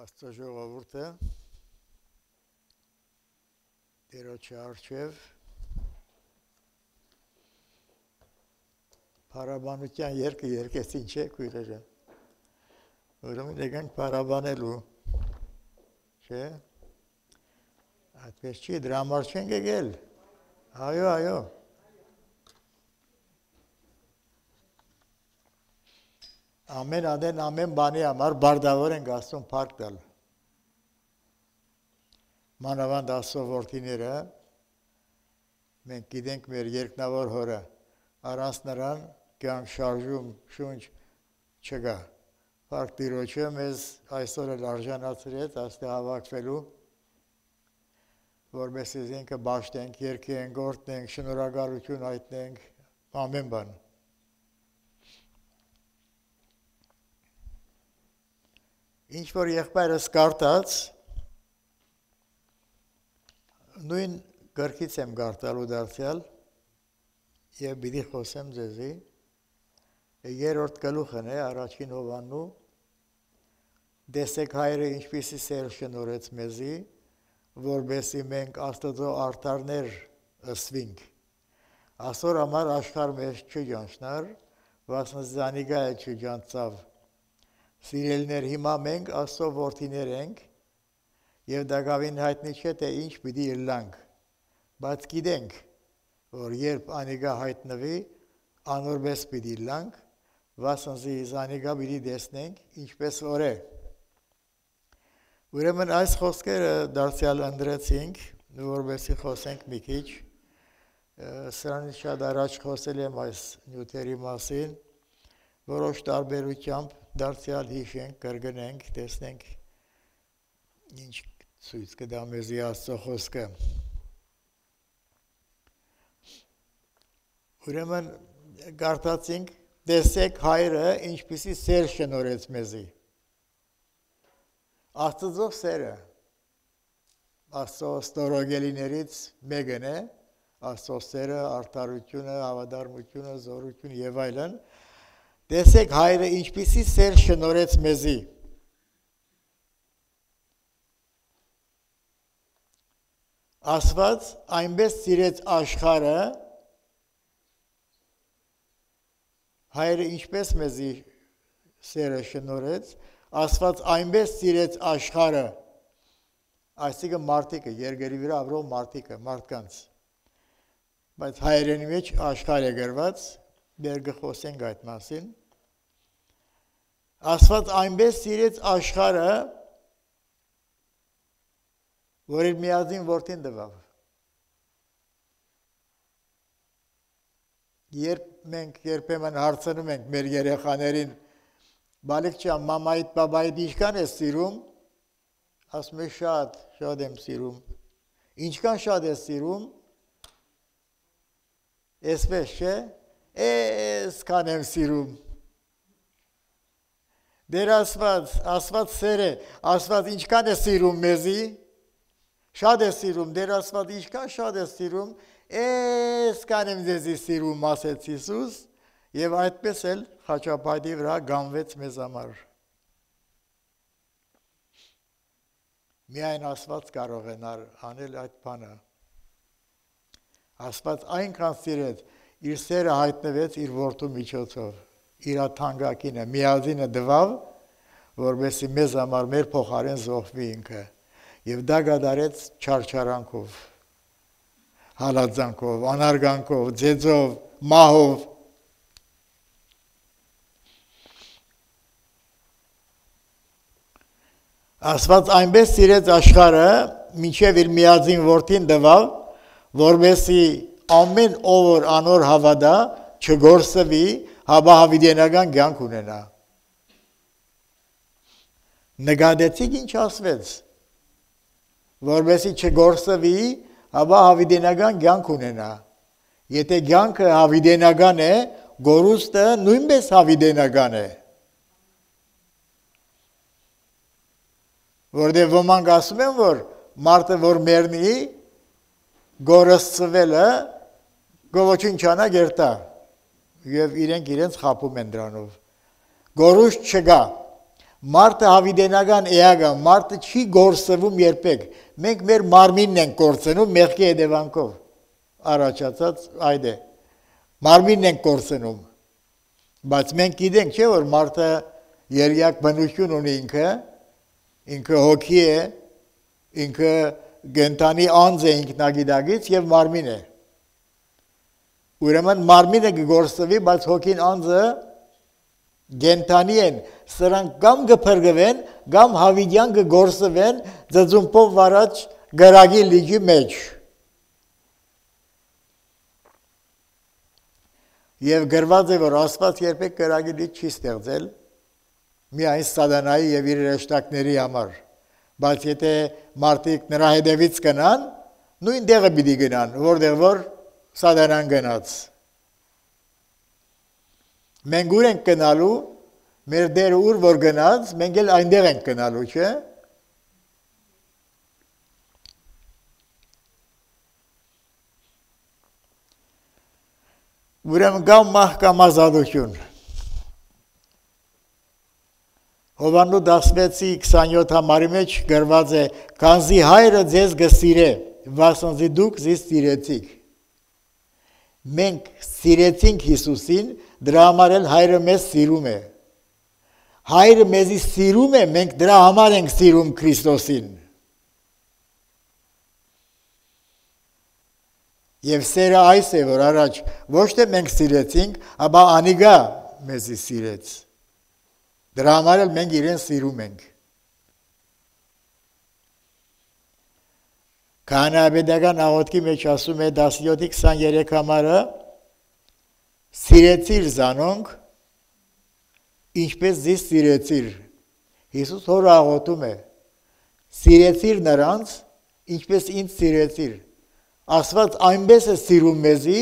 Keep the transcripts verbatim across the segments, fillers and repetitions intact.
Աստծո ժողովուրդը Տերոջի առջև փառաբանության երգը երգեցին չէ քույրերը, ուրեմն եկանք փառաբանելու, չէ, այդպես չի, դրա համար չենք եկել, այո, այո, ամեն ադեն ամեն բանի համար բարդավոր ենք Աստծուն փառք տալ, մանավանդ Աստծո որդիները, մենք գիտենք մեր երկնավոր հորը, առանց նրան կյանք շարժում շունչ չկա, փառք Տիրոջը մեզ այսօր էլ արժանացրեց այստեղ հավաքվելու, որպեսզի ինքը բաշխենք, երգենք, գործենք, շնորհակալություն հայտնենք, ամեն բան։ Ինչ որ եղբայրս կարդաց, նույն գրքից եմ կարդալու դարձյալ եւ պիտի խոսեմ ձեզի, երրորդ գլուխն է առաջին Հովհաննու, տեսեք հայրը ինչպիսի սեր շնորհեց մեզի, որպեսզի մենք Աստծո արդարներ ըսվինք։ Այսօր համար աշխարհ մեզ չճանչնար, վասն զանիգա է չճանցավ։ Սիրելիներ, հիմա մենք Աստծո որդիներ ենք եւ դակավին հայտնի չէ թե ինչ պիտի ըլլանք, բայց գիտենք, որ երբ անիգա հայտնվի, անորպես պիտի ըլլանք, վասնզի անիգա պիտի տեսնենք ինչպես որ է։ Ուրեմն այս խոսքերը դարձյալ ընդրեցինք, որպեսզի խոսենք մի քիչ, սրանից շատ առաջ խոսել եմ այս նյութերի մասին, որոշ տարբերությամբ դարձյալ հիշենք, կրկնենք, տեսնենք ինչ ցույց կտա մեզի Աստծո խոսքը։ Ուրեմն կարդացինք, տեսեք հայրը ինչպիսի սեր շնորհեց մեզի։ Աստծո սերը Աստծո ստորոգելիներից մեկն է, Աստծո սերը, արդարությունը, հավատարմությունը, զորությունը եւ այլն։ Տեսեք հայրը ինչպիսի սեր շնորհեց մեզի։ Աստված այնպես սիրեց աշխարհը, հայրը ինչպես մեզի սերը շնորհեց, Աստված այնպես սիրեց աշխարհը, այսինքն մարդիկը, երկրի վրա ապրող մարդիկը, մարդկանց։ Բայց հայրենի մեջ աշխարհ է գրված, դեռ կխոսենք այդ մասին։ Աստված այնպես սիրեց աշխարհը, որ իր միածին որդին տվավ։ Երբ մենք երբեմն հարցնում ենք մեր երեխաներին, բալիկ ջան, մամայիդ, բաբայիդ ինչքան ես սիրում, ասում է շատ, շատ եմ սիրում։ Ինչքան շատ ես սիրում, էսպես չէ, էսքան եմ սիրում։ Դեր ասված, ասված սեր է, ասված ինչքան է սիրում մեզի, շատ է սիրում, դեր ասված ինչքան շատ է սիրում, էսքան եմ ձեզի սիրում, ասեց Հիսուս, եւ այդպես էլ խաչապայտի վրա գանվեց մեզ համար։ Միայն Աստված կարող է անել այդ բանը։ Աստված այնքան սիրեց, իր սերը հայտնվեց իր որդու միջոցով, իր թանկագինը, միածինը տվավ, որպեսզի մեզ համար մեր փոխարեն զոհվի ինքը, եւ դա կատարեց չարչարանքով, հալածանքով, անարգանքով, ձեծով, մահով։ Աստված այնպես սիրեց աշխարհը, մինչև իր միածին որդին տվավ, որպեսզի ամեն ով որ անոր հավատա չգործվի, հապա հավիտենական կյանք ունենա։ Նկատեցիք ինչ ասվեց, որպեսզի չգործվի, հապա հավիտենական կյանք ունենա։ Եթե կյանքը հավիտենական է, գորուստը նույնպես հավիտենական է։ Որտեղ ոմանք ասում են, որ մարդը որ մեռնի, գորսցվելը գոչինչանա գերտա եւ իրենք իրենց խապում են դրանով։ Գորուս չկա, Մարդը հավիդենական էագա, մարդը չի գործվում երբեք, մենք մեր մարմինն ենք գործնում մեղքի հետևանքով, առաջացած այդ է, մարմինն ենք գործնում, բայց մենք գիտենք չէ, որ մարդը երյակ բնություն ունի ինքը, ինքը հոգի է, ինքը գենտանի անձ է ինքնագիտակից և մարմին է, ուրեմն մարմինը գործվի, բայց հոգին անձը գենտանի են, սրանք կամ գփրկվեն, կամ հավիդյան կգործվեն ձծումպով վարած գրագի լիճի մեջ։ Եվ գրված է, որ Աստված երբեք գրագի լիճ չի ստեղծել, միայն սատանայի և իր հրեշտակների համար, բայց եթե մարդիկ նրա հետևից գնան, նույն տեղը պիտի գնան, որտեղ որ սատանան գնաց։ Մենք ուր ենք գնալու, մեր դերը ուր որ գնաց, մենք էլ այնտեղ ենք գնալու, չէ՞։ Ուրեմն կամ մահ կամ ազատություն։ Հովհաննես դասվեցի քսանյոթ համարի մեջ գրված է, քանզի հայրը ձեզ կսիրե, վասնզի դուք ձեզ սիրեցիք։ Մենք սիրեցինք Հիսուսին, դրա համար էլ հայրը մեզ սիրում է։ Հայրը մեզի սիրում է, մենք դրա համար ենք սիրում Քրիստոսին։ Եվ սերը այս է, որ առաջ ոչ թե մենք սիրեցինք, ապա անիգա մեզի սիրեց։ Դրա համար էլ մենք իրեն սիրում ենք։ Քահանայապետական աղոթքի մեջ ասում է տասնյոթի քսաներեք համարը, սիրեցիր զանոնք, ինչպես ձեզ սիրեցիր։ Հիսուս հորը աղոթում է, սիրեցիր նրանց, ինչպես ինձ սիրեցիր։ Աստված այնպես է սիրում մեզի,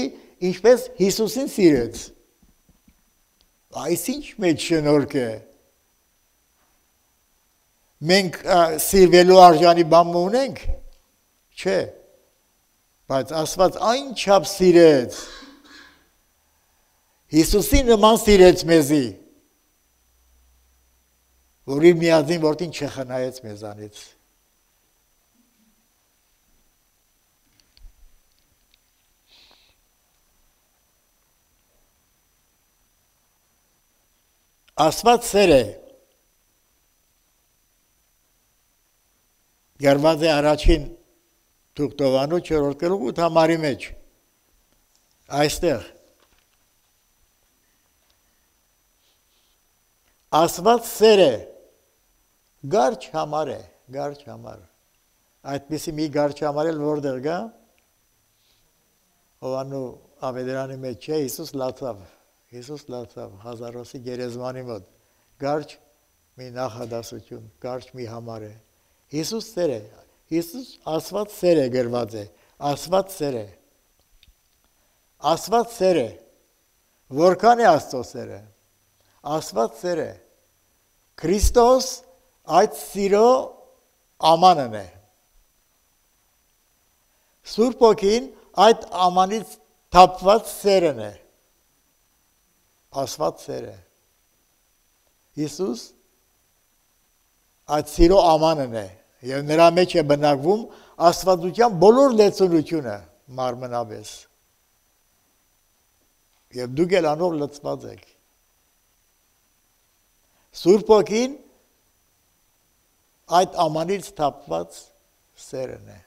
ինչպես Հիսուսին սիրեց։ Այս ինչ մեջ շնորհք է։ Մենք սիրվելու արժանի բան ունենք, չէ, բայց Աստված այնչափ սիրեց, Հիսուսի նման սիրեց մեզի, որ իր միածին որդին չխնայեց մեզանից։ Աստված սեր է, գրված է առաջին Թուղթովանու չորրորդ գլուխ ութ համարի մեջ, այստեղ, Աստված սեր է, գարչ համար է, գարչ համար, այդպիսի մի գարչ համար էլ որտեղ գա, Հովհաննու ավետարանի մեջ չէ, Հիսուս լացավ, Հիսուս լացավ, հազարոսի գերեզմանի մոտ, գարչ մի նախադասություն, գարչ մի համար է, Հիսուս սեր է, Հիսուս Աստված սեր է գրված է, Աստված սեր է, Աստված սեր է, որքան է Աստծո սերը, Աստված սեր է, Քրիստոս այդ սիրո ամանն է, Սուրբ Հոգին այդ ամանից թափված սերն է, Աստված սեր է, Հիսուս այդ սիրո ամանն է, և նրա մեջ է բնակվում աստվածության բոլոր լեցունությունը մարմնապես, և դուք էլ անով լծված եք, Սուրբ Հոգին այդ ամանից թափված սերն է,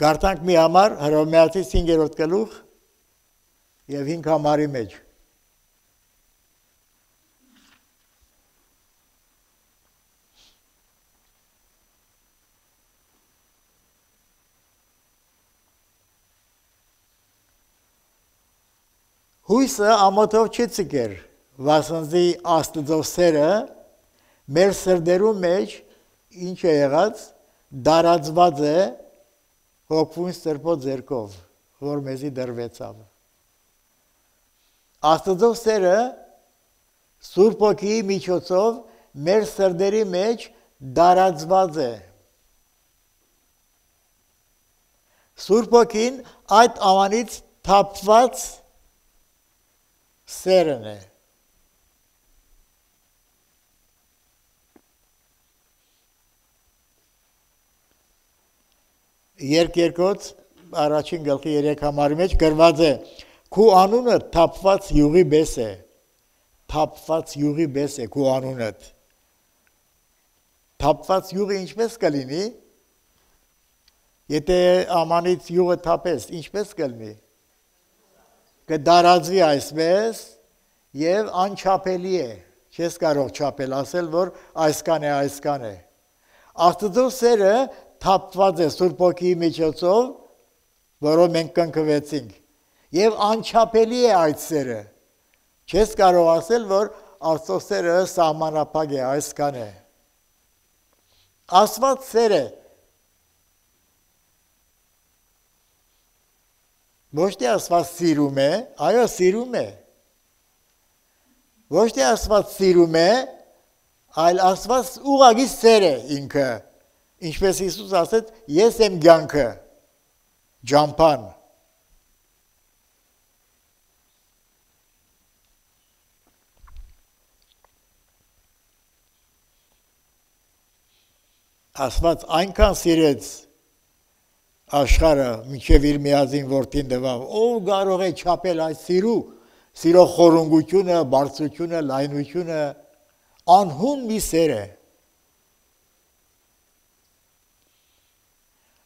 Գարտանք մի համար Հռոմեացի հինգերորդ գլուխ և հինգ համարի մեջ։ Հույսը ամոթով չի ցկեր, վասնզի Աստծո սերը մեր սրտերում մեջ ինչ է եղած, դարածված է հոգվուն սրբո ձեռքով, որ մեզի դրվեցավ։ Աստծո սերը Սուրբ Հոգիի միջոցով մեր սրտերի մեջ դարածված է։ Սուրբ Հոգին այդ ամանից թափված սերն է։ Երկերկոց առաջին գլխի երեք համարի մեջ գրված է քու անունը թափված յուղի պես է, թափված յուղի պես է քու անունդ։ Թափված յուղը ինչպես կլինի, եթե ամանից յուղը թափես, ինչպես կլինի, կդարածվի այսպես և անչապելի է, չես կարող չապել, ասել, որ այսքան է, այսքան է։ Աստծո սերը թափված է Սուրբ Հոգիի միջոցով, որով մենք կնքվեցինք, և անչապելի է այդ սերը։ Չես կարող ասել, որ Աստծո սերը սահմանափակ է, այսքան է։ Աստված սեր է։ Ոչ թե Աստված սիրում է, այո սիրում է։ Ոչ թե Աստված սիրում է, այլ Աստված ուղղակի սեր է ինքը, ինչպես Հիսուս ասեց, ես եմ կյանքը, ջամփան։ Աստված այնքան սիրեց աշխարհը, մինչև իր միածին որդին տվավ, ով կարող է չափել այդ սիրու, սիրո խորունգությունը, բարձրությունը, լայնությունը, անհուն մի սեր է։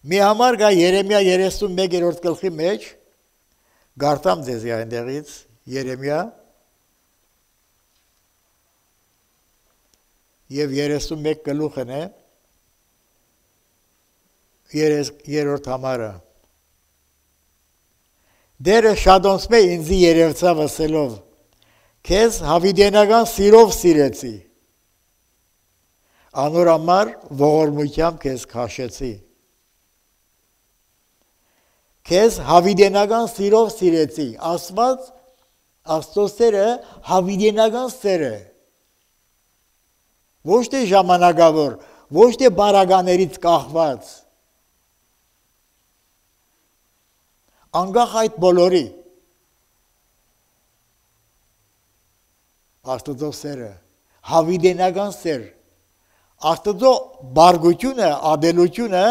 Մի համար կա Երեմիա երեսունմեկերորդ գլխի մեջ, գարտամ ձեզ այնտեղից, Երեմիա և երեսունմեկ գլուխն է, երորդ համարը։ Դերը շադոնցմե ինձի երևցավ ասելով, քեզ հավիդենական սիրով սիրեցի, անոր համար ողորմությամբ քեզ քաշեցի։ Քեզ հավիդենական սիրով սիրեցի, Աստված, Աստծո սերը հավիդենական սեր է։ Ոչ թե ժամանակավոր, ոչ թե բարագաներից կախված, անգախ այդ բոլորի, Աստծո սերը, հավիդենական սեր, Աստծո բարգությունը, ադելությունը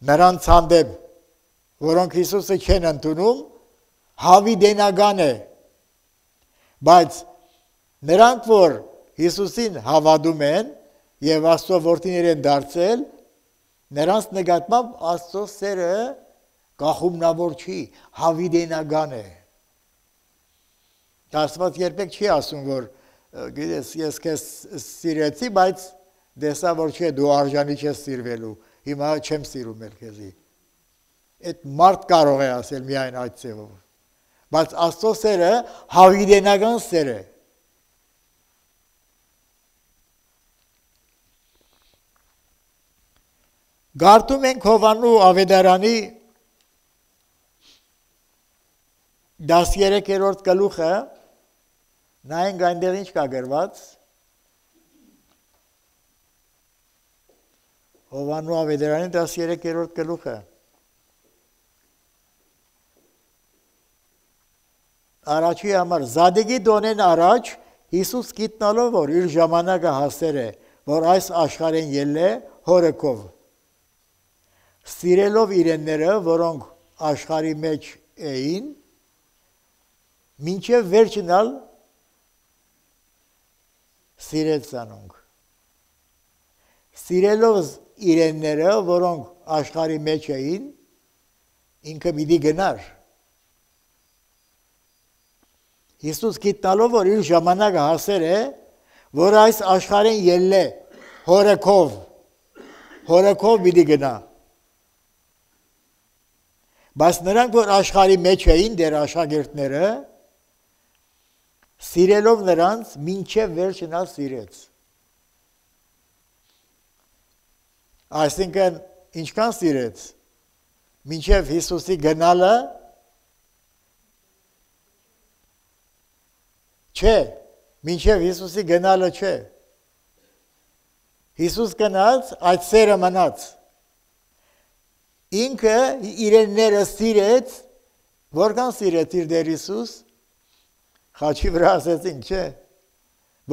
նրանց հանդեպ, որոնք Հիսուսը չեն ընդունում, հավիդենական է, բայց նրանք, որ Հիսուսին հավատում են և Աստծո որդիներ են դարձել, նրանց նկատմամբ Աստծո սերը կախումնավոր չի, հավիդենական է։ Աստված երբեք չի ասում, որ գիտես, ես քեզ սիրեցի, բայց դեսա, որ չէ, դու արժանի չես սիրվելու, հիմա չեմ սիրում էլ քեզի։ Այդ մարդ կարող է ասել միայն այդ ձևով, բայց Աստծո սերը հավիդենական սեր է։ Գարտում ենք Հովհաննու ավետարանի դասերեքերորդ գլուխը, նայենք այնտեղ ինչ կա գրված, Հովհաննու ավետարանի դասերեքերորդ գլուխը, առաջի համար, Զադեգի դոնեն առաջ, Հիսուս գիտնալով, որ իր ժամանակը հասեր է, որ այս աշխարհեն ելե հորեքով, սիրելով իրենները, որոնք աշխարհի մեջ էին, մինչև վերջնալ սիրեց անոնք։ Սիրելով իրենները, որոնք աշխարհի մեջ էին, ինքը պիտի գնար։ Հիսուս գիտնալով, որ իր ժամանակը հասեր է, որ այս աշխարհեն ելե հորեքով, հորեքով պիտի գնա։ Բայց նրանք, որ աշխարհի մեջ էին, դեր աշակերտները, սիրելով նրանց, մինչև վերջնալ սիրեց։ Այսինքն, ինչքան սիրեց, մինչև Հիսուսի գնալը, չէ, մինչև Հիսուսի գնալը չէ։ Հիսուս գնաց, այդ սերը մնաց։ Ինքը իրենները սիրեց, որքան սիրեց իր Տեր Հիսուս, Խաչի վրա ասեցին, չէ։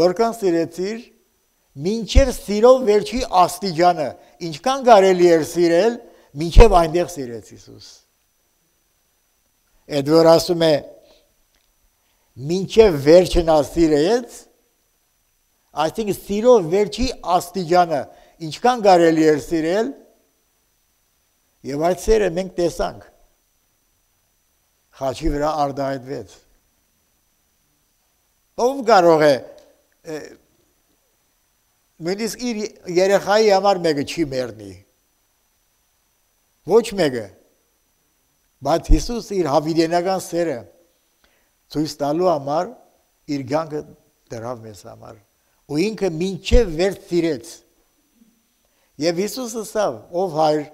Որքան սիրեցիր, մինչև սիրով վերջի աստիճանը, ինչքան կարելի էր սիրել, մինչև այնտեղ սիրեց Հիսուս։ Այդ որ ասում է, մինչև վերջն ասիրեց, այսինքն սիրով վերջի աստիճանը, ինչքան կարելի էր սիրել, եւ այդ սերը մենք տեսանք։ Խաչի վրա արտահայտվեց։ Ով կարող է նույնիսկ իր երեխայի համար մեկը չի մեռնի։ Ոչ մեկը։ Բայց Հիսուս իր հավիտենական սերը ցույց տալու համար իր կյանքը դրավ մեզ համար։ Ու ինքը մինչև վերջ սիրեց։ Եվ Հիսուսը ասավ, ով հայր,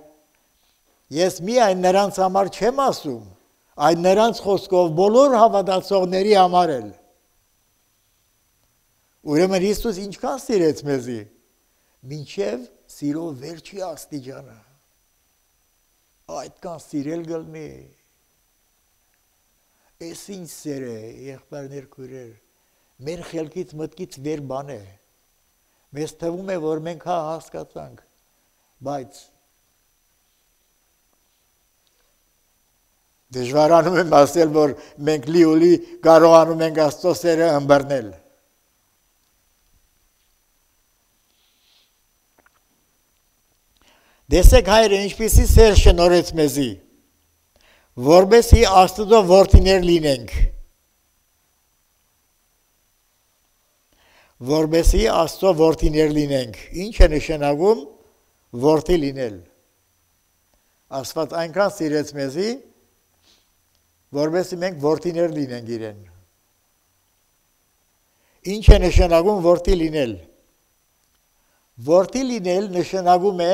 ես միայն նրանց համար չեմ ասում, այլ նրանց խոսքով բոլոր հավատացողների համար էլ։ Ուրեմն Հիսուս ինչքան սիրեց մեզի, մինչև սիրով վերջի աստիճանը։ Այդքան սիրել գլնի։ Էս ինչ սեր է, եղբայրներ քույրեր, մեր խելքից մտքից վեր բան է։ Մեզ թվում է, որ մենք հա հասկացանք, բայց դժվարանում եմ ասել, որ մենք լիոլի կարողանում ենք Աստծո սերը ըմբռնել։ Դեսեք հայրը ինչպիսի սեր շնորհեց մեզի, որպեսզի Աստծո որդիներ լինենք։ Որպեսզի Աստծո որդիներ լինենք։ Ինչ է նշանակում որդի լինել։ Աստված այնքան սիրեց մեզի, որպեսզի մենք որդիներ լինենք իրեն։ Ինչ է նշանակում որդի լինել։ Որդի լինել նշանակում է,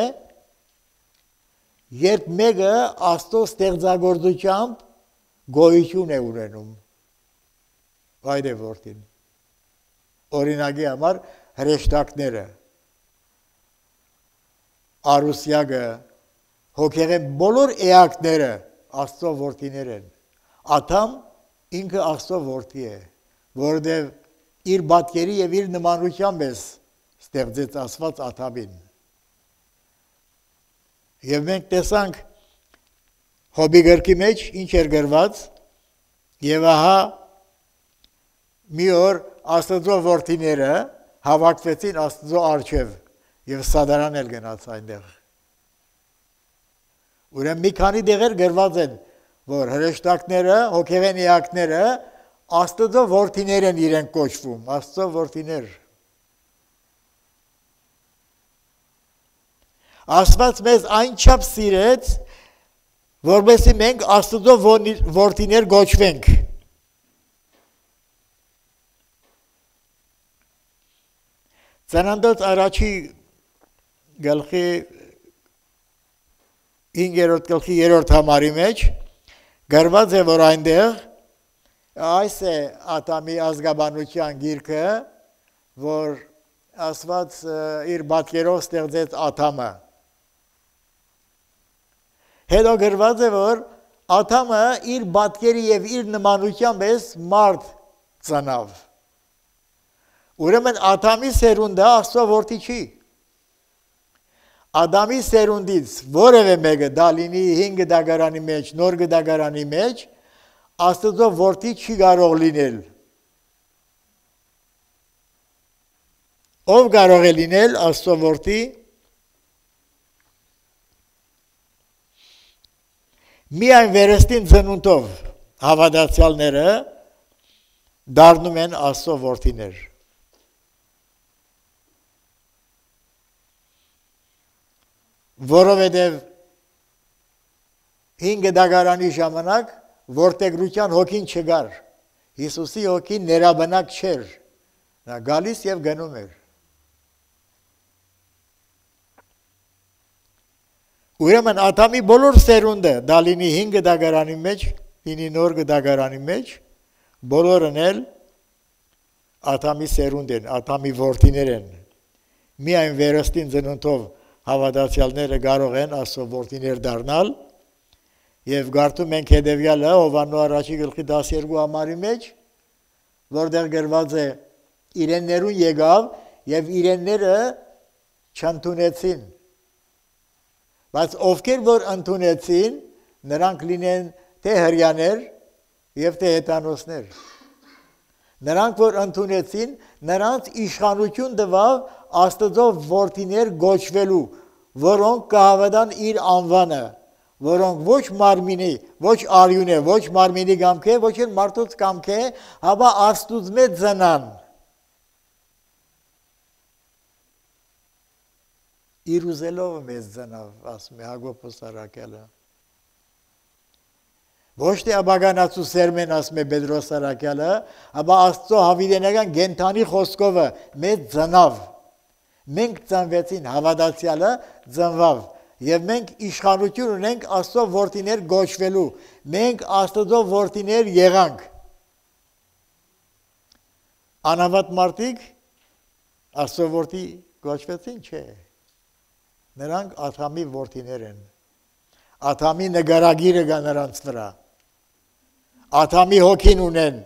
երբ մեկը Աստծո ստեղծագործությամբ գոյություն է ունենում։ Այդ է որդին։ Օրինակի համար հրեշտակները, արուսյակը, հոգեղեն բոլոր էակները Աստծո որդիներ են։ Աթամ ինքը Աստծո որդի է, որովհետև իր պատկերի եւ իր նմանությամբ է ստեղծեց Աստված Աթամին։ Եվ մենք տեսանք Հոբի գրքի մեջ ինչ էր գրված, եւ ահա մի օր Աստծո որդիները հավաքվեցին Աստծո առջև եւ Սադարան էլ գնաց այնտեղ։ Ուրեմն մի քանի դեղեր գրված են, որ հրեշտակները, հոգևեն էակները Աստծո որդիներ են իրենք կոչվում, Աստծո որդիներ։ Աստված մեզ այնչափ սիրեց, որպեսզի մենք Աստծո որդիներ գոչվենք։ Ծննդոց առաջի գլխի հինգերորդ գլխի երրորդ համարի մեջ գրված է, որ այնտեղ այս է Աթամի ազգաբանության գիրքը, որ Աստված իր պատկերով ստեղծեց Աթամը։ Հետո գրված է, որ Աթամը իր պատկերի եւ իր նմանությամբ էս մարդ ծնավ։ Ուրեմն Աթամի սերունդը Աստծո որդի չի։ Ադամի սերունդից որևէ մեկը դա լինի հինգ դագարանի մեջ, նոր դագարանի մեջ, Աստծո որդի չի կարող լինել։ Ով կարող է լինել Աստծո որդի։ Միայն վերստին ծնունդով հավատացյալները դառնում են Աստծո որդիներ։ Որովհետև հինգ դագարանի ժամանակ որդեգրության հոգին չգար, Հիսուսի հոգին ներաբնակ չէր, նա գալիս և գնում էր։ Ուրեմն Աթամի բոլոր սերունդը, դա լինի հինգ դագարանի մեջ, լինի նոր դագարանի մեջ, բոլորն էլ Աթամի սերունդ են, Աթամի որդիներ են։ Միայն վերստին ծնունդով հավատացյալները կարող են Աստծո որդիներ դառնալ, եւ գարտում ենք հետեւյալը Հովհաննես առաջի գլխի դասերկու համարի մեջ, որտեղ գրված է իրեններուն եկավ եւ իրենները չընդունեցին։ Բայց ովքեր որ ընդունեցին, նրանք լինեն թե հրյաներ եւ թե հետանոսներ։ Նրանք որ ընդունեցին, նրանց իշխանություն տվավ Աստծո որդիներ գոչվելու, որոնք կհավատան իր անվանը, որոնք ոչ մարմինի, ոչ արյունե, ոչ մարմինի կամք է, ոչ էլ մարդուց կամք է, հապա Աստուծմե ծնան։ Իր ուզելով մեզ ծնավ, ասում է Հակոբոս առաքյալը։ Ոչ թե աբագանացու սերմեն, ասում է Պետրոս առաքյալը, ապա Աստծո հավիտենական գենթանի խոսքովը մեզ ծնավ։ Մենք ծնվեցին, հավատացյալը ծնվավ, եւ մենք իշխանություն ունենք Աստծո որդիներ գոչվելու, մենք Աստծո որդիներ եղանք։ Անհավատ մարդիկ Աստծո որդի գոչվեցին, չէ։ Նրանք Աթամի որդիներ են։ Աթամի նկարագիրը կա նրանց վրա։ Աթամի հոգին ունեն,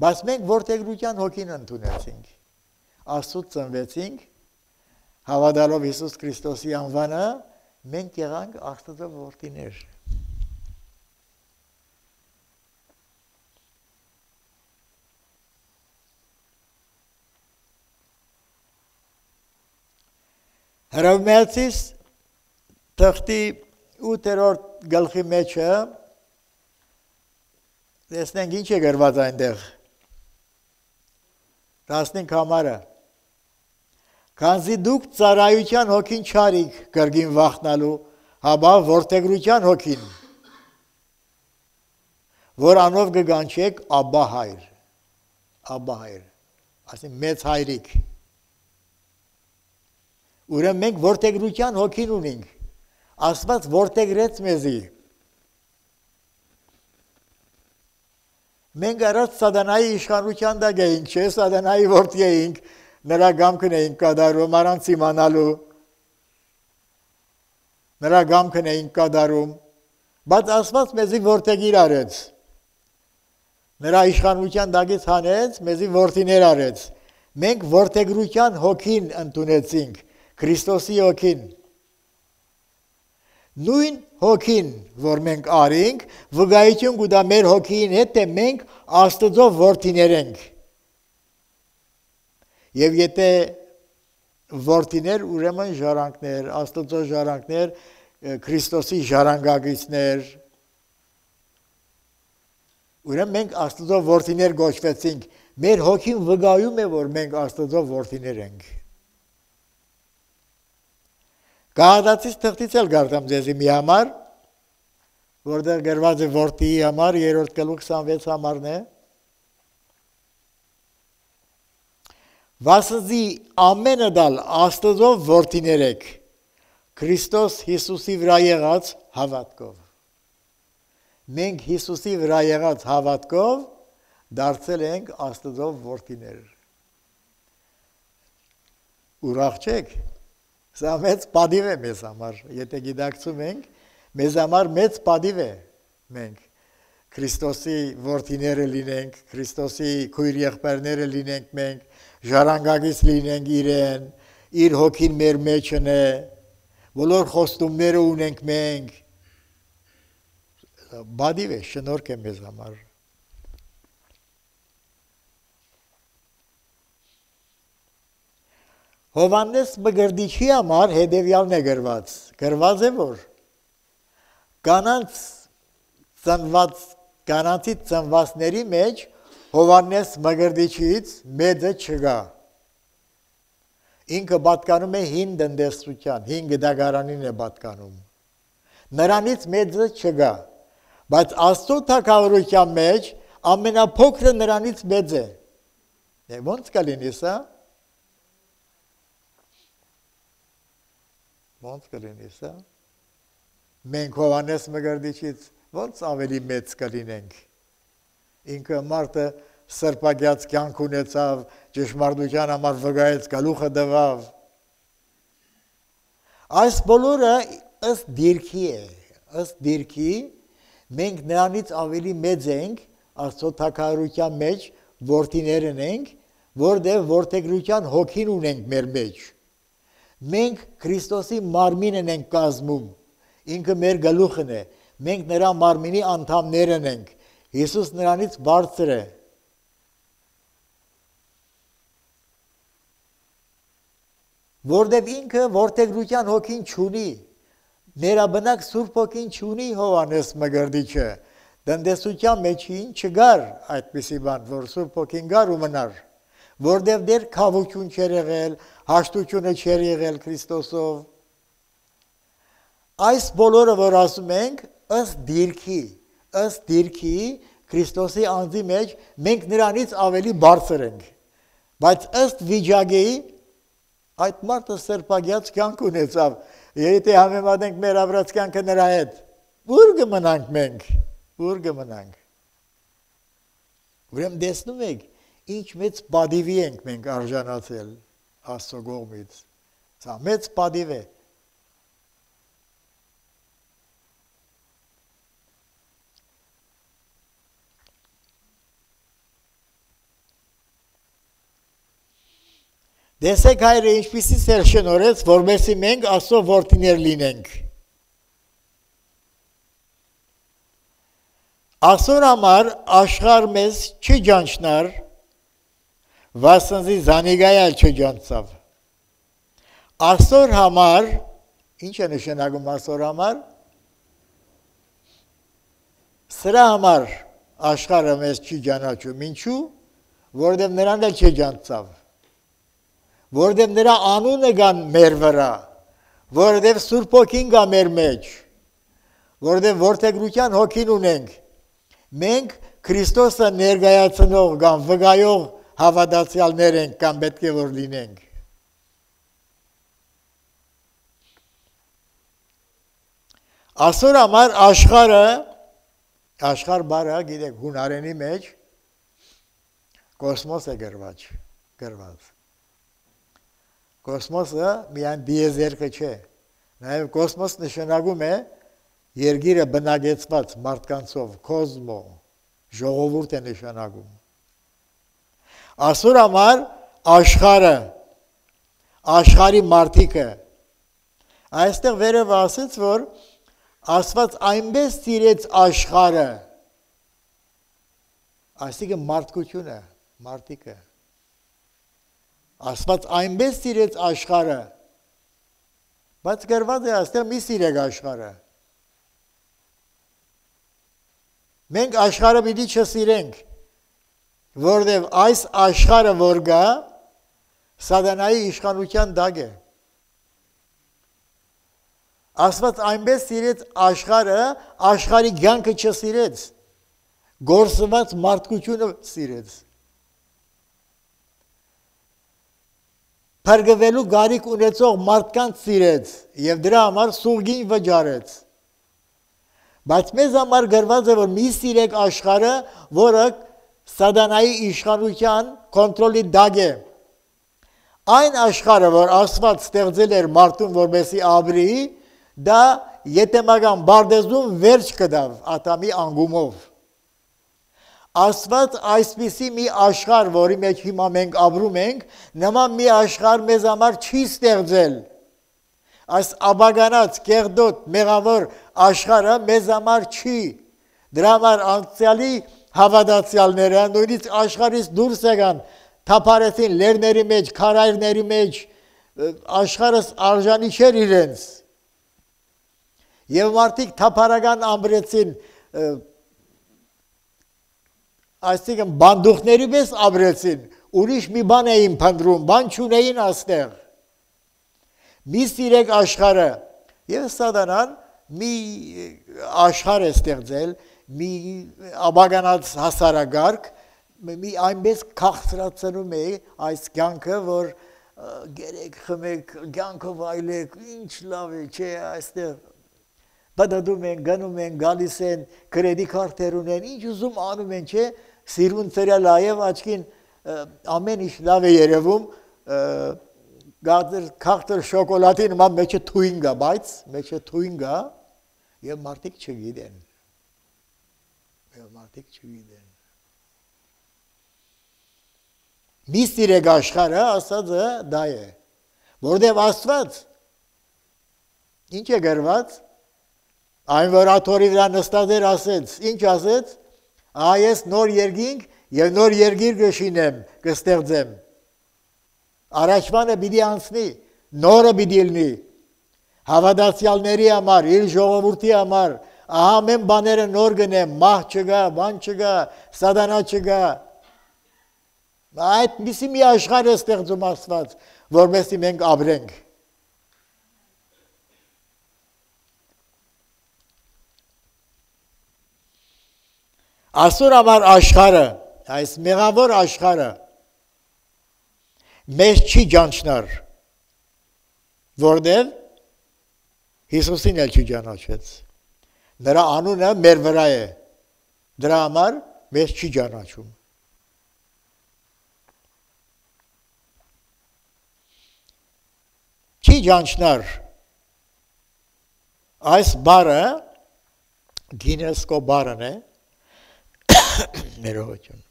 բայց մենք որդեգրության հոգին ընդունեցինք, Աստծուց ծնվեցինք, հավատալով Հիսուս Քրիստոսի անվանը, մենք եղանք Աստծո որդիներ։ Հռոմեացիս թղթի ութերորդ գլխի մեջը տեսնենք ինչ է գրված այնտեղ։ տասնհինգ համարը։ Քանզի դուք ծառայության հոգին չարիք կրկին վախնալու, հաբա որդեգրության հոգին, որ անով կգանչեք Աբբա հայր, Աբբա հայր, ասին մեծ հայրիկ։ Ուրեմն մենք որդեգրության հոգին ունենք, Աստված որդեգրեց մեզի։ Մենք առած սատանայի իշխանության տակ էինք, չէ, սատանայի որդի էինք, նրա գամքն էինք կատարում, առանց իմանալու, նրա գամքն էինք կատարում, բայց Աստված մեզի որդեգիր արեց, նրա իշխանության տակից հանեց, մեզի որդիներ արեց, մենք որդեգրության հոգին ընդունեցինք, Քրիստոսի հոգին։ Նույն հոգին, որ մենք արինք, վկայություն կտա մեր հոգին հետ, թե մենք Աստծո որդիներ ենք։ Եվ եթե որդիներ, ուրեմն ժառանգներ, Աստծո ժառանգներ, Քրիստոսի ժառանգագիցներ, ուրեմն մենք Աստծո որդիներ գոչվեցինք, մեր հոգին վկայում է, որ մենք Աստծո որդիներ ենք։ Գաղատացիս թղթից էլ գարտամ ձեզի մի համար, որտեղ գրված է որդիի համար, երրորդ գլուխ քսանվեց համարն է։ Վասնզի ամենը դալ Աստծո որդիներ եք, Քրիստոս Հիսուսի վրա եղած հավատքով։ Մենք Հիսուսի վրա եղած հավատքով դարձել ենք Աստծո որդիներ։ Ուրախ չեք։ Սա մեծ պատիվ է մեզ համար, եթե գիտակցում ենք, մեզ համար մեծ պատիվ է մենք Քրիստոսի որդիները լինենք, Քրիստոսի քույր եղբայրները լինենք մենք, ժառանգագից լինենք իրեն, իր հոգին մեր մեջն է, բոլոր խոստումները ունենք մենք, պատիվ է, շնորհք է մեզ համար։ Հովհաննես Մկրտիչի համար հետևյալն է գրված, գրված է, որ կանանց ծնված, կանանցի ծնվածների մեջ Հովհաննես Մկրտիչից մեծը չկա։ Ինքը պատկանում է հին տնտեսության, հին գդագարանին է պատկանում։ Նրանից մեծը չկա, բայց Աստծո թագավորության մեջ ամենափոքրը նրանից մեծ է։ Ոնց կլինի սա։ Ոնց կլինի սա։ Մենք Հովհաննես Մկրտիչից ոնց ավելի մեծ կլինենք։ Ինքը մարդը սրբագյաց կյանք ունեցավ, ճշմարտության համար վկայեց, գլուխը տվավ։ Այս բոլորը ըստ դիրքի է, ըստ դիրքի մենք նրանից ավելի մեծ ենք Աստծո թագավորության մեջ, որդիներն ենք, որտեղ որդեգրության հոգին ունենք մեր մեջ։ Մենք Քրիստոսի մարմինն ենք կազմում, ինքը մեր գլուխն է, մենք նրա մարմինի անդամներն ենք, Հիսուս նրանից բարձր է։ Որտեղ ինքը որդեգրության հոգին չունի, ներաբնակ Սուրբ հոգին չունի Հովհաննես Մկրտիչը, տնտեսության մեջին չգար այդպիսի բան, որ Սուրբ հոգին գար ու մնար, որտեղ դեր քավություն չեր եղել, հաշտությունը չեր եղել Քրիստոսով։ Այս բոլորը, որ ասում ենք, ըստ դիրքի, ըստ դիրքի Քրիստոսի անձի մեջ մենք նրանից ավելի բարձր ենք, բայց ըստ վիճակի այդ մարդը սրբագյաց կյանք ունեցավ, եթե համեմատենք մեր ապրած կյանքը նրա հետ, ուր կմնանք մենք, ուր կմնանք։ Ուրեմն տեսնում եք, ինչ մեծ պատիվի ենք մենք արժանացել Աստծո կողմից, սա մեծ պատիվ է։ Տեսեք հայրը ինչպիսի սեր շնորհեց, որպեսզի մենք Աստծո որդիներ լինենք։ Աստծո համար աշխարհ մեզ չջանչնար, վասնզի զանիգայալ չջանցավ։ Աստծո համար, ինչ է նշանակում Աստծո համար։ Սրա համար աշխարհը մեզ չի ջանաչում, ինչու՞, որովհետև նրան էլ չջանցավ։ Որովհետև նրա անունը կան մեր վրա, որովհետև Սուրբ հոգին կա մեր մեջ, որովհետև որդեգրության հոգին ունենք, մենք Քրիստոսը ներկայացնող կամ վկայող հավատացյալներ ենք կամ պետք է որ լինենք։ Այսօր համար աշխարհը, աշխարհ բառը, գիտեք, հունարենի մեջ կոսմոս է գրված, գրված։ Կոսմոսը միայն դիեզերքը չէ, նաև կոսմոս նշանակում է երկիրը բնակեցված մարդկանցով, կոսմո, ժողովուրդ է նշանակում։ Այսօր համար աշխարհը, աշխարհի մարդիկը, այստեղ վերև ասեց, որ Աստված այնպես սիրեց աշխարհը, այսինքն մարդկությունը, մարդիկը, Աստված այնպես սիրեց աշխարհը, բայց գրված է այստեղ մի սիրեք աշխարհը։ Մենք աշխարհը պիտի չսիրենք, որովհետև այս աշխարհը որ գա, սատանայի իշխանության տակ է։ Աստված այնպես սիրեց աշխարհը, աշխարհի կյանքը չսիրեց, գործված մարդկությունը սիրեց։ Փրկվելու գարիք ունեցող մարդկանց սիրեց եւ դրա համար սուրգին վճարեց։ Բայց մեզ համար գրված է, որ մի սիրեք աշխարհը, որը սատանայի իշխանության կոնտրոլի տակ է։ Այն աշխարհը, որ Աստված ստեղծել էր մարդուն, որպեսզի ապրի, դա ետեմական բարդեզում վերջ կդավ Ադամի անգումով։ Աստված այսպիսի մի աշխարհ, որի մեջ հիմա մենք ապրում ենք, նման մի աշխարհ մեզ համար չի ստեղծել։ Այս աբագանած, կեղդոտ, մեղավոր աշխարհը մեզ համար չի։ Դրա համար անցյալի հավատացյալները նույնիսկ աշխարհից դուրս եկան, թափարեցին լերների մեջ, քարայրների մեջ, աշխարհս արժանի չէր իրենց։ Եվ մարդիկ թափարական ամրեցին, այսինքն բանդուխների պես ապրեցին, ուրիշ մի բան էին փնտրում, բան չունեին աստեղ։ Մի սիրեք աշխարհը, եւ սատանան մի աշխարհ է ստեղծել, մի աբագանած հասարակարգ, մի այնպես քաղցրացնում է այս կյանքը, որ գերեք խմեք, կյանքով այլեք, ինչ լավ է, չէ, այստեղ բադադում են, գնում են, գալիս են, կրեդի քարտեր ունեն, ինչ ուզում անում են, չէ, սիրուն ծրել այև աչքին ամեն ինչ լավ է երևում, քաղտր շոկոլադի նման մեջը թույն գա, բայց մեջը թույն գա և մարդիկ չգիտեն, և մարդիկ չգիտեն։ մի սիրեք աշխարհը, ասածը դա է, որտեղ Աստված ինչ է գրված, այն որ աթորի վրա նստած էր ասեց, ինչ ասեց, այս նոր երկինք եւ նոր երկիր կշինեմ, կստեղծեմ։ Առաջվանը պիտի անցնի, նորը պիտի լինի։ Հավատացյալների համար, իր ժողովրդի համար, ահա մեն բաները նոր գնեմ, մահ չգա, բան չգա, սատանա չգա։ Այդ միսի մի աշխարհ է ստեղծում Աստված, որովհետեւ մենք ապրենք։ Այսօր համար աշխարհը, այս մեղավոր աշխարհը մեզ չի ճանչնար, որտեղ Հիսուսին էլ չի ճանաչեց։ Նրա անունը մեր վրա է, դրա համար մեզ չի ճանաչում։ Չի ճանչնար այս բառը գինեսկո բառն է, ներողություն։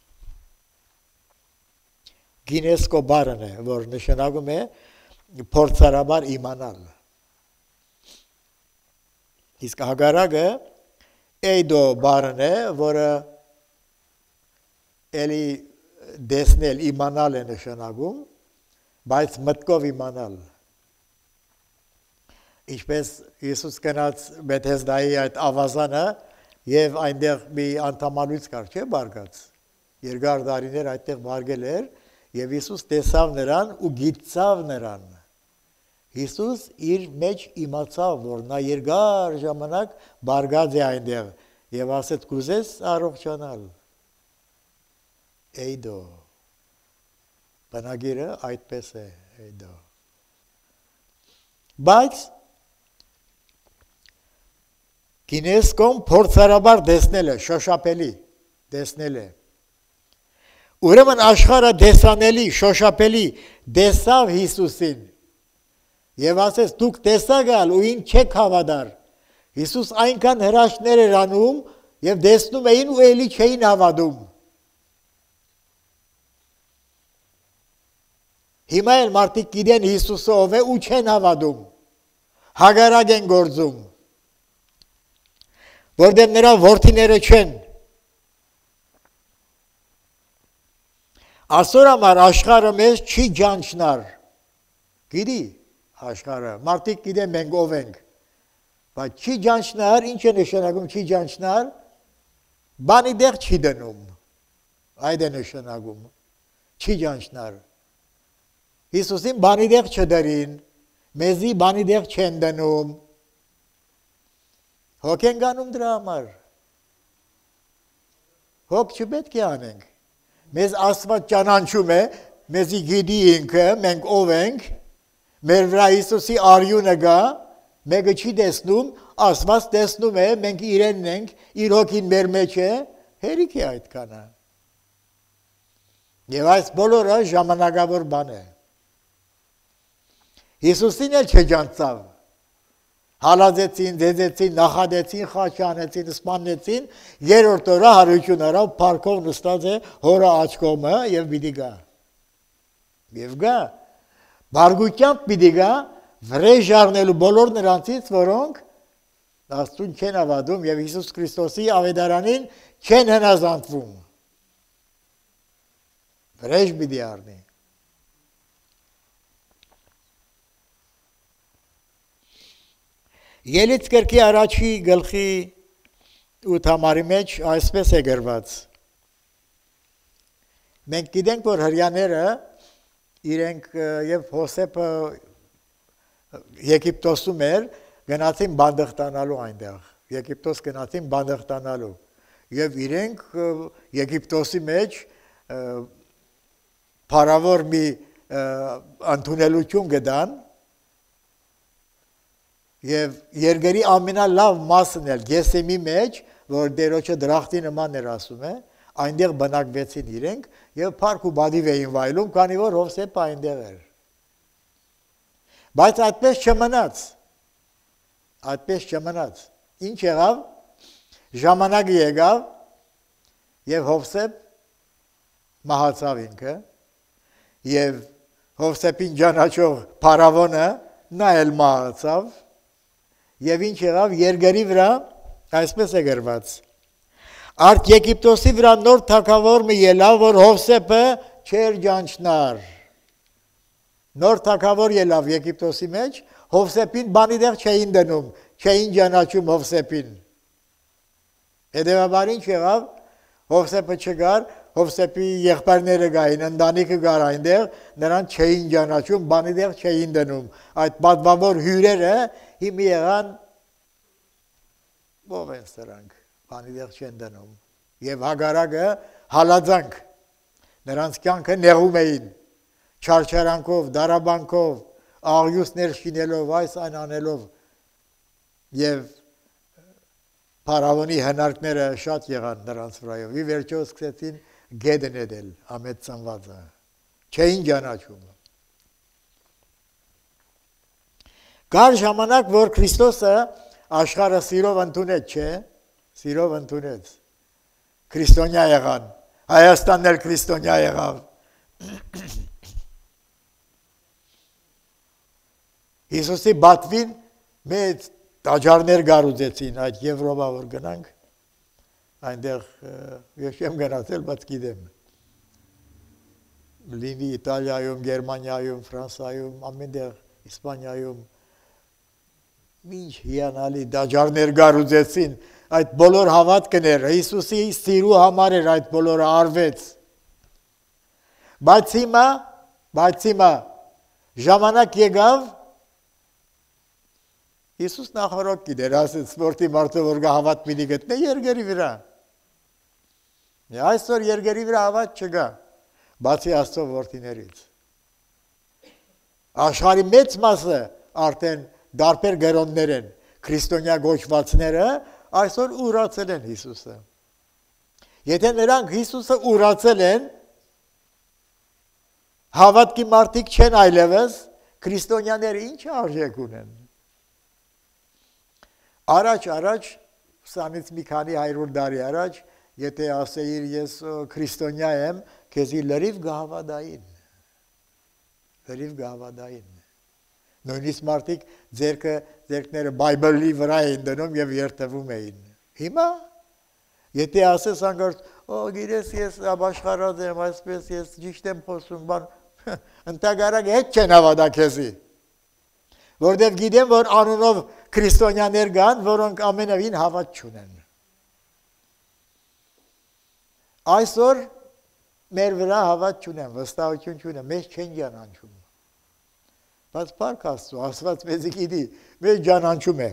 Գինեսկո բառն է, որ նշանակում է փորձարաբար իմանալ։ Իսկ հագարակը էյդո բառն է, որը էլի դեսնել իմանալ է նշանակում, բայց մտքով իմանալ։ Ինչպես Հիսուս գնաց Բեթեսդայի այդ ավազանը եւ այնտեղ մի անդամալույց կար, չէ՞ բարգած։ Երկար տարիներ այդտեղ բարգել էր եւ Հիսուս տեսավ նրան ու գիտцав նրան։ Հիսուս իր մեջ իմացավ, որ նա երկար ժամանակ բարգած է այնտեղ եւ ասեց կուզես առողջանալ։ Էյդո։ Բնագիրը այդպես է, էյդո։ Բայց գինեսկոն փորձարաբար դեսնել է, շոշափելի դեսնել է։ Ուրեմն աշխարհը դեսանելի, շոշափելի դեսավ Հիսուսին։ Եվ ասեց դուք տեսակալ ու ինչ չեք հավատար։ Հիսուս այնքան հրաշքներ էր անում եւ դեսնում էին ու էլի չէին հավատում։ Հիմա էլ մարդիկ գիտեն Հիսուսը ով է ու չեն հավատում։ Հագարակ են գործում։ Որտեղ նրա որդիները չեն։ Այսօր համար աշխարհը մեզ չի ճանչնար։ Գիտի աշխարհը, մարդիկ գիտեն մենք ով ենք, բայց չի ճանչնար, ինչ է նշանակում չի ճանչնար, բանի դեղ չի դնում, այդ է նշանակում, չի ճանչնար, Հիսուսին բանի դեղ չդրին, մեզի բանի դեղ չեն դնում, հոգ են գանում դրա համար, հոգ չպետք է անենք, մեզ Աստված ճանաչում է, մեզի գիտի ինքը, մենք ով ենք, մեր վրա Հիսուսի արյունը գա, մեկը չի տեսնում, Աստված տեսնում է, մենք իրենն ենք, իր հոգին մեր մեջ է, հերիք է այդքանը։ Եվ այս բոլորը ժամանակավոր բան է։ Հիսուսին էլ չջանցավ։ Հալածեցին, ձեզեցին, նախադեցին, խաչի անեցին, սպանեցին, երրորդ օրը հարություն արավ, փառքով նստած է հորը աջ կողմը եւ պիտի գա։ Եվ գա Բարգուկյան պիտի գա վրեժ առնելու բոլոր նրանցից, որոնք Աստծուն չեն հավատում եւ Հիսուս Քրիստոսի ավետարանին չեն հնազանդվում։ Վրեժ պիտի առնի։ Ելից կրկի առաջի գլխի ութ համարի մեջ այսպես է գրված։ Մենք գիտենք, որ հրյաները իրենք եւ Հոսեփը Եգիպտոսում էր գնացին բանդղտանալու այնտեղ Եգիպտոս գնացին բանդղտանալու եւ իրենք Եգիպտոսի մեջ փարավոր մի ընդունելություն գտան եւ երկրի ամենալավ մասն էլ Գեսեմի մեջ որ դերոջը դրախտի նման էր ասում է այնտեղ բնակվեցին իրենք եւ փառք ու բադիվ էին վայելում, քանի որ Հովսեփը այնտեղ էր։ Բայց այդպես չմնաց։ Այդպես չմնաց։ Ինչ եղավ։ Ժամանակը եկավ եւ Հովսեփ մահացավ ինքը եւ Հովսեփին ճանաչող փարավոնը նա էլ մահացավ եւ ինչ եղավ երկրի վրա այսպես է գրված Արդ Եգիպտոսի վրա նոր թագավոր մի ելավ որ Հովսեփը չեր ճանչնար Նոր թագավոր ելավ Եգիպտոսի մեջ Հովսեփին բանի դեղ չէին դնում չէին ճանաչում Հովսեփին Հետևաբար ինչ եղավ Հովսեփը չգար Հովսեփի եղբայրները գային, ընտանիքը գար այնտեղ, նրան չէին ճանաչում, բանի դեղ չէին դնում։ Այդ պատվավոր հյուրերը հիմի եղան ով են սրանք, բանի դեղ չեն դնում։ Եվ Հագարակը հալածանք, նրանց կյանքը նեղում էին, չարչարանքով, դարաբանքով, աղյուսներ շինելով, այս այն անելով։ Եվ Փարավոնի հնարքները շատ եղան նրանց վրայով։ Ի վերջո սկսեցին գեդն էդել ամեծ ծնվածը չէին ճանաչում Կար ժամանակ որ Քրիստոսը աշխարհը սիրով ընդունեց չէ սիրով ընդունեց քրիստոնյա եղան Հայաստանն էլ քրիստոնյա եղավ Հիսուսի բատվին մեծ տաճարներ գարուձեցին այդ Եվրոպա որ գնանք այնտեղ ես չեմ գնացել, բայց գիտեմ։ Լինի Իտալիայում, Գերմանիայում, Ֆրանսիայում, ամենտեղ Իսպանիայում ինչ հիանալի դաջարներ գարուձեցին, այդ բոլոր հավատքները Հիսուսի սիրու համար էր այդ բոլորը արվեց։ Բայց հիմա, բայց հիմա ժամանակ եկավ Հիսուս նախորդ գիտեր, ասեց սպորտի մարդը որ հավատ մի գտնե երկրի վրա։ Այսօր երկրի վրա հավատ չկա, բացի Աստծո որդիներից։ Աշխարհի մեծ մասը արդեն դարբեր գերոններ են, քրիստոնյա գոչվածները այսօր ուրացել են Հիսուսը։ Եթե նրանք Հիսուսը ուրացել են, հավատքի մարդիկ չեն այլևս, քրիստոնյաները ինչ արժեք ունեն։ Առաջ առաջ, սանից մի քանի հարյուր տարի առաջ, եթե ասեիր ես քրիստոնյա եմ, քեզի լրիվ գահավադային, լրիվ գահավադային։ Նույնիսկ մարդիկ ձերքը, ձերքները բայբլի վրա էին դնում և երթվում էին։ Հիմա, եթե ասես անգարդ, օ, գիրես ես ապաշխարած եմ, այսպես ես ճիշտ եմ խոսում, բան, ընտագարակ հետ չեն հավադա քեզի։ Որտև գիտեմ, որ անունով քրիստոնյաներ կան, որոնք ամենևին հավատ չունեն։ Այսօր մեր վրա հավատ չունեն, վստահություն չունեն, մեզ չեն ճանաչում։ Բայց փառք Աստծո, Աստված մեզ գիտի, մեզ ճանաչում է։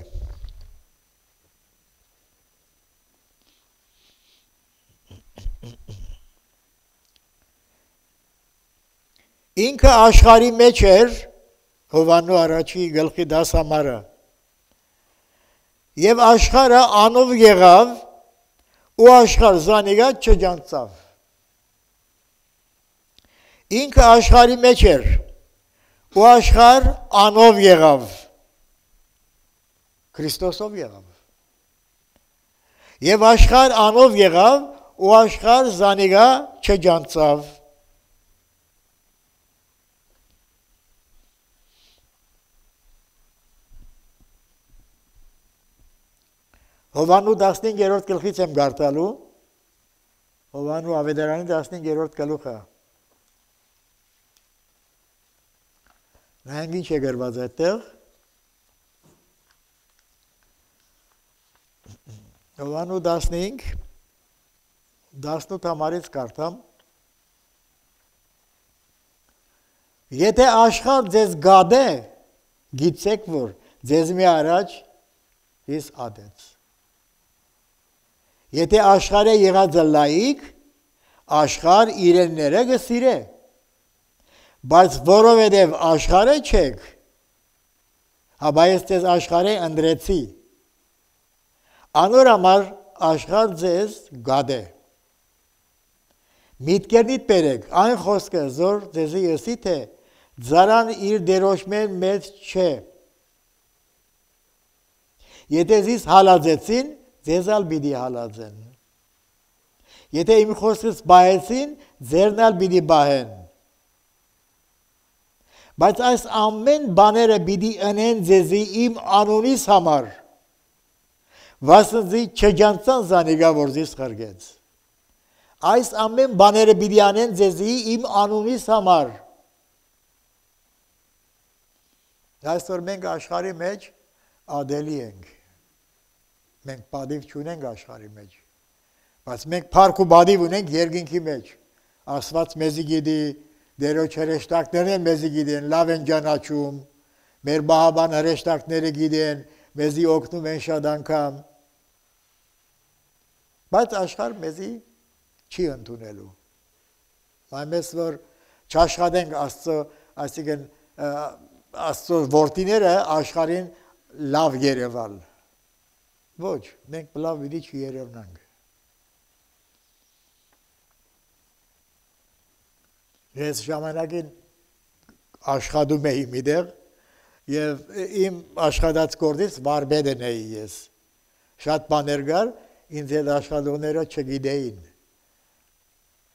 Ինքը աշխարհի մեջ էր Հովանու առաջի գլխի դաս համարը։ Եվ աշխարհը անով եղավ ու աշխարհ զանիգա չջանցավ։ Ինքը աշխարհի մեջ էր ու աշխարհ անով եղավ։ Քրիստոսով եղավ։ Եվ աշխարհ անով եղավ ու աշխարհ զանիգա չջանցավ։ Հովանու տասնհինգերորդ գլխից եմ գարտալու, Հովանու ավետարանի տասնհինգերորդ գլուխը։ Նայենք ինչ է գրված այդտեղ։ Հովանու տասնհինգ, տասնութ համարից կարդամ։ Եթե աշխարհ ձեզ գադե, գիտեք, որ ձեզ մի առաջ հիս ադեց։ Եթե աշխարհը եղած լայիկ, աշխարհ իրենները գսիրե։ Բայց որովհետև աշխարհը չեք, հաբա ես ձեզ աշխարհը ընդրեցի։ Անոր համար աշխարհ ձեզ գադե։ Միտքերնիդ բերեք, այն խոսքը զոր ձեզի եսի թե ձարան իր դերոշմեն մեծ չէ։ Եթե զիս հալածեցին, ձեզ ալ բիդի հալածեն։ Եթե իմ խոսքս բահեցին, ձերն ալ բիդի բահեն։ Բայց այս ամեն բաները պիտի ընեն ձեզի իմ անունիս համար, վասնզի չջանցան զանիգա որ ձեզ խրգեց։ Այս ամեն բաները պիտի անեն ձեզի իմ անունիս համար։ Այսօր մենք աշխարհի մեջ ադելի ենք։ Մենք բադիվ չունենք աշխարհի մեջ։ Բայց մենք փառք ու բադիվ ունենք երկինքի մեջ։ Աստված մեզի գիտի, դերոջ հրեշտակներն մեզի գիտեն, լավ են ճանաչում, մեր բահաբան հրեշտակները գիտեն, մեզի օգնում են շատ անգամ։ Բայց աշխարհ մեզի չի ընդունելու։ Այնպես որ չաշխատենք Աստծո, այսինքն Աստծո որդիները աշխարհին լավ երևալ։ Ոչ, մենք լավ պիտի չերևնանք։ Ես ժամանակին աշխատում էի միտեղ եւ իմ աշխատած գործից վարպետն էի ես։ Շատ բաներ կար, ինձ հետ աշխատողները չգիտեին։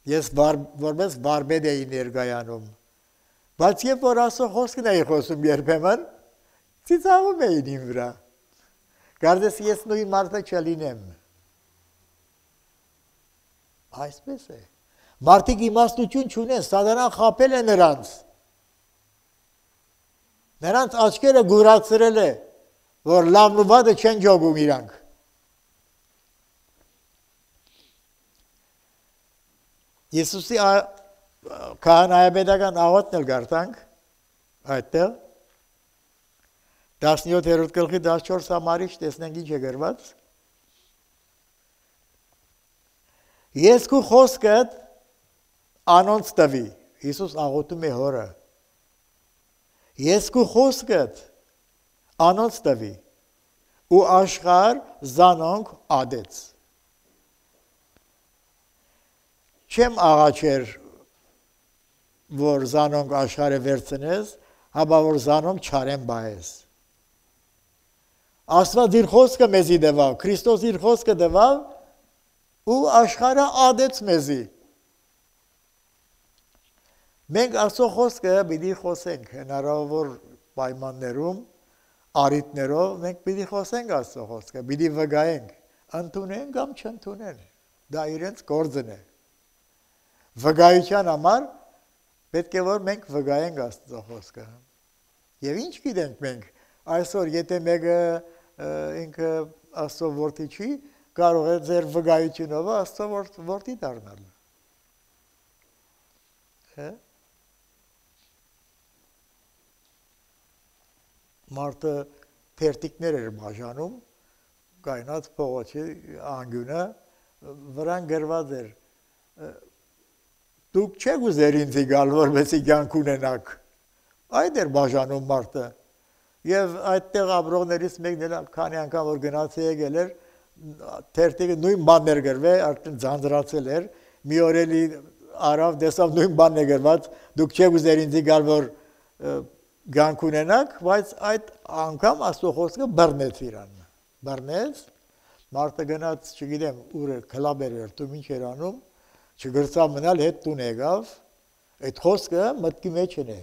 Ես որպես վարպետ էի ներկայանում։ Բայց երբ որ Աստծո խոսքն էի խոսում երբեմն, ծիծաղում էին իմ վրա։ Կարծես ես նույն մարդը չլինեմ։ Այսպես է։ Մարդիկ իմաստություն չունեն, սատանան խաբել է նրանց։ Նրանց աչքերը գուրացրել է, որ լավն ու վատը չեն ջոգում իրանք։ Եսուսի քահանայապետական աղոթն էլ գարտանք այդտեղ տասնյոթերորդ գլխի տասնչորս համարից տեսնենք ինչ է գրված։ Ես քո խոսքդ անոնց տվի, Հիսուս աղոթում է հորը։ Ես քո խոսքդ անոնց տվի ու աշխարհ զանոնք ադեց։ Չեմ աղաչեր, որ զանոնք աշխարհը վերցնես, հաբա որ զանոնք չարեն բայես։ Աստված իր խոսքը մեզի դվավ, Քրիստոս իր խոսքը դվավ ու աշխարհը ադեց մեզի։ Մենք Աստծո խոսքը պիտի խոսենք հնարավոր պայմաններում, առիթներով մենք պիտի խոսենք Աստծո խոսքը, պիտի վկայենք, ընդունեն կամ չընդունեն։ Դա իրենց գործն է։ Վկայության համար պետք է որ մենք վկայենք Աստծո խոսքը։ Եվ ինչ գիտենք մենք, այսօր եթե մեկը ինքը Աստծո որդի չի, կարող է ձեր վկայությունով Աստծո որդի դառնալ։ Հա։ Մարդը թերթիկներ էր բաժանում, կայնած փողոցի անգյունը վրան գրված էր։ Դուք չեք ուզեր ինձի գալ, որպեսզի կյանք ունենաք։ Այդ էր բաժանում մարդը։ Եվ այդտեղ ապրողներից մեկն էլ քանի անգամ որ գնաց եկել էր, թերթիկը նույն բանն էր գրվել, արդեն ձանձրացել էր, մի օր էլի արավ տեսավ նույն բանն է գրված, դուք չեք ուզեր ինձի գալ, որ կյանք ունենաք, բայց այդ անգամ Աստծո խոսքը բռնեց իրան։ Բռնեց, մարդը գնաց, չգիտեմ, ուր էր, քլաբեր էր, դու ինչ էր անում, չգրծավ մնալ, հետ տուն եկավ, այդ խոսքը մտքի մեջ է։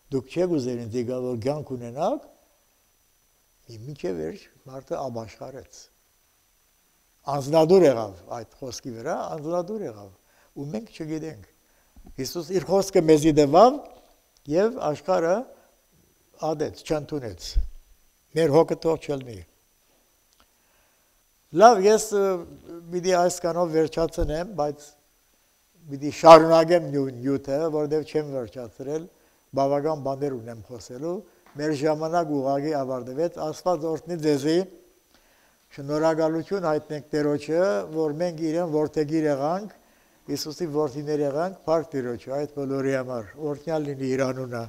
Դուք չեք ուզեր ինձ եկալ, որ կյանք ունենաք, մինչև վերջ մարդը ապաշխարեց։ Անձնադուր եղավ այդ խոսքի վրա, անձնադուր եղավ, ու մենք չգիտենք։ Հիսուս իր խոսքը մեզի տվավ եւ աշխարհը ադեց, չընդունեց։ Մեր հոգը թող չլինի։ Լավ, ես պիտի այսքանով վերջացնեմ, բայց պիտի շարունակեմ նյութը, որովհետև չեմ վերջացրել, բավական բաներ ունեմ խոսելու, մեր ժամանակ ուղղակի ավարտվեց, Աստված օրհնի ձեզի, շնորհակալություն հայտնենք Տերոջը, որ մենք իրեն որդեգիր եղանք, Հիսուսի որդիներ եղանք, փառք Տիրոջը, այդ բոլորի համար, օրհնյալ լինի իր անունը։